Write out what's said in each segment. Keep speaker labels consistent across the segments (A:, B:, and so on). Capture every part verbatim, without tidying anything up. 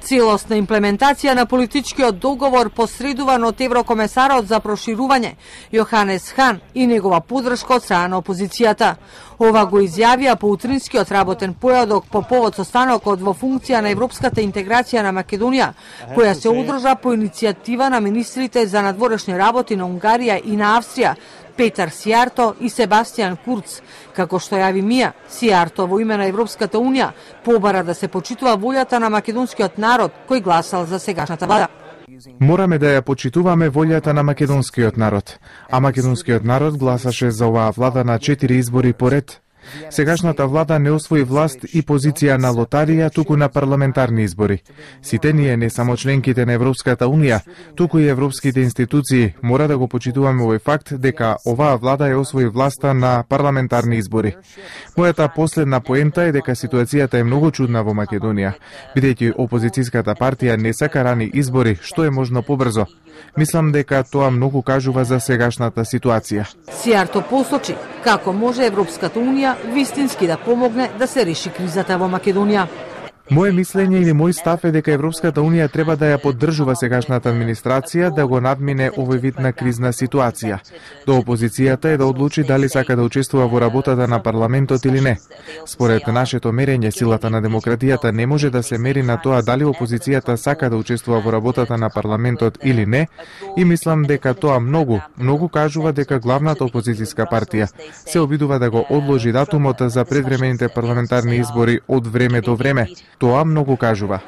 A: Целосна имплементација на политичкиот договор посредуван од еврокомесарот за проширување Јоханес Хан и негова поддршка од страна на опозицијата. Ова го изјавија по утринскиот работен појадок по повод состанокот во функција на европската интеграција на Македонија, која се одржа по иницијатива на министрите за надворешни работи на Унгарија и на Австрија, Петар Сијарто и Себастијан Курц. Како што јави Мија, Сијарто во име на Европската Унија побара да се почитува волјата на македонскиот народ кој гласал за сегашната влада.
B: Мораме да ја почитуваме волјата на македонскиот народ, а македонскиот народ гласаше за оваа влада на четири избори поред. Сегашната влада не освои власт и позиција на лотарија, туку на парламентарни избори. Сите ние, не само членките на Европската Унија, туку и европските институции, мора да го почитуваме овој факт дека оваа влада ја освои власта на парламентарни избори. Мојата последна поента е дека ситуацијата е многу чудна во Македонија, бидејќи опозицијската партија не сака рани избори, што е можно побрзо. Мислам дека тоа многу кажува за сегашната ситуација.
A: Сијарто посочи како може Европската Унија вистински да помогне да се реши кризата во Македонија.
B: Моje мислење или мој став е дека Европската Унија треба да ја поддржува сегашната администрација да го надмине овој вид на кризна ситуација. До опозицијата е да одлучи дали сака да учествува во работата на парламентот или не. Според нашето мерење, силата на демократијата не може да се мери на тоа дали опозицијата сака да учествува во работата на парламентот или не, и мислам дека тоа многу, многу кажува дека главната опозицијска партија се обидува да го одложи датумот за предвремените парламентарни избори од време до време. Тоа многу кажува.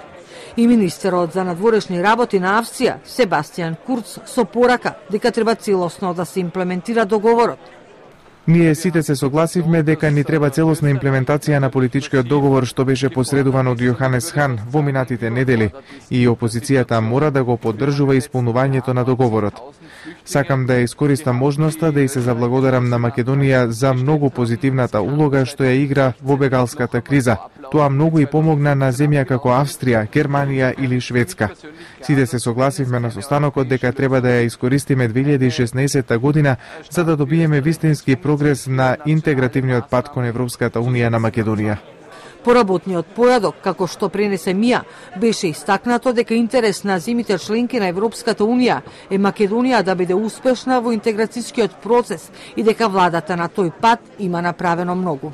A: И министерот за надворешни работи на Австрија, Себастијан Курц, со порака дека треба целосно да се имплементира договорот.
B: Ние сите се согласивме дека ни треба целосна имплементација на политичкиот договор што беше посредуван од Јоханес Хан во минатите недели, и опозицијата мора да го поддржува исполнувањето на договорот. Сакам да ја искористам можноста да и се заблагодарам на Македонија за многу позитивната улога што ја игра во бегалската криза. Тоа многу и помогна на земја како Австрија, Германија или Шведска. Сите се согласивме на состанокот дека треба да ја искористиме две илјади и шеснаесетта година за да добиеме вистински прогрес на интегративниот пат кон Европската Унија на Македонија.
A: По работниот појадок, како што пренесе Мија, беше истакнато дека интерес на земјите членки на Европската Унија е Македонија да биде успешна во интеграцијскиот процес и дека владата на тој пат има направено многу.